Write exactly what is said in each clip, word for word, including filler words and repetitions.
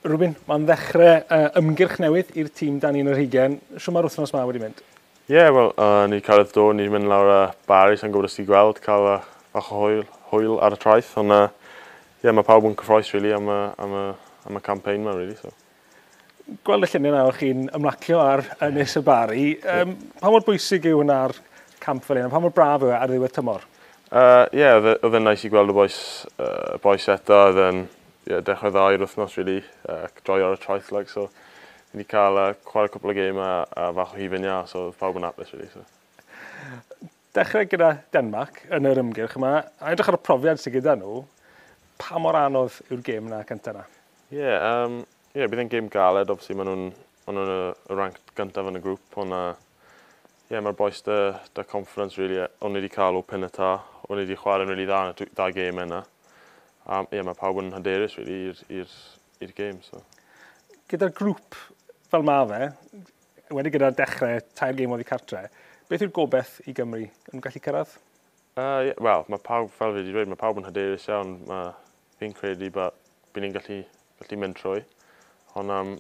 Rubin, mae'n ddechrau uh, ymgyrch newydd i'r tîm dan un ar hugain. Shwt mae'r wythnos ma wedi mynd? Ie, yeah, wel, uh, ni cyrraedd do, ni'n mynd lawr y Barry, sa'n gwybod os ti'n gweld, cael uh, bach o hwyl, hwyl ar y traeth, ond uh, yeah, mae pawb yn cyffroes, really, am y, am y, am y campaign ma, really, so. Gweld y lluniau nawr chi'n ymlacio ar Ynys y Barry. Um, pa mor bwysig yw hwnna ar camp fel un? Pa mor braf yw e ar ddiwedd tymor? Ie, uh, yeah, oedd e'n nice i gweld y boys, uh, boys eto, oedd e'n yeah, dechrau dda i'r wythnos, really, uh, joio ar y traeth, like, so ni wedi cael uh, chwarae cwpl o gêm a, a fach o hufen iâ, so oedd pawb yn hapus, really. So. Dechrau gyda Denmark yn yr ymgyrch yma, a edrych ar y profiad sydd gyda nhw, pa mor anodd yw'r gêm yna cyntaf yna? Ie, yeah, um, yeah, bydd e'n gêm galed, obviously, maen nhw'n ma nhw y, y rank gyntaf yn y grŵp, ond uh, yeah, mae'r boys 'da, 'da confidence, really. O'n ni wedi cael o Pinatar, o'n ni wedi chwarae'n really dda yn y ddau gêm yna. A yeah, mae pawb yn hyderus, really, i'r gêm. So. Gyda'r grŵp fel ma fe, wedi gyda'r dechrau tair gêm oddi cartre, beth yw'r gobeith i Gymru yn gallu cyrraedd? Uh, yeah, Wel, mae pawb, fel fi wedi dweud, mae pawb yn hyderus iawn. Mae, fi'n credu bod bydd ni'n gallu, gallu mynd trwy. Ond um,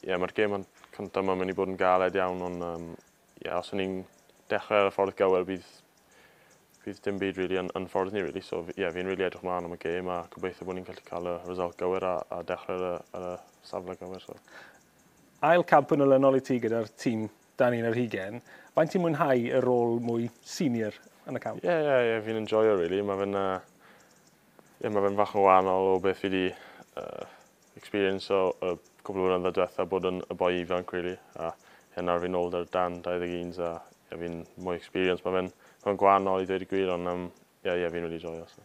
yeah, mae'r gêm cyntaf yma'n mynd i bod yn galed iawn, ond um, yeah, os o'n ni'n dechrau ar y ffordd gywir, bydd, bydd dim byd really yn, yn ffordd ni, really. So yeah, fi'n really edrych mlaen am y gêm a gobeithio bod ni'n gallu cael y result gywir a, a dechrau ar y, ar y safle gywir. So. Ail camp yn olynol i ti gyda'r tîm dan un ar hugain. Faint ti'n mwynhau y rôl mwy senior yn y camp? Ie, yeah, ie, yeah, yeah, fi'n enjoyo, really. Mae fe'n uh, yeah, mae fe'n fach yn wahanol o beth fi wedi uh, experience o y cwpl o flynyddoedd diwetha bod yn y boi ifanc, really. A yeah, nawr fi'n ôl dan dau ddeg un a yeah, fi'n mwy experience. Mae fe'n ma gwahanol i ddweud y gwir, ond um, yeah, yeah, fi'n really joio. So.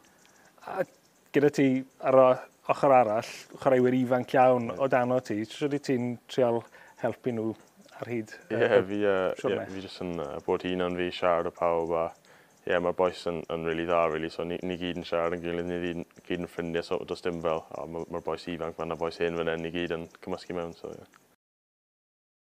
A gyda ti ar y ochr arall, chwaraewyr ifanc iawn o dano ti, sut ti'n trial helpu nhw ar hyd Ie, yeah, fi, uh, yeah, fi jyst yn uh, bod hunan fi, siarad â pawb a ie, yeah, mae'r boys yn, yn really dda, really, so ni, ni gyd yn siarad yn gilydd, ni gyd, gyd yn ffrindiau, so does dim fel, oh, mae'r ma boys ifanc, mae'r boys hen fan hyn, ni gyd yn cymysgu mewn, so yeah.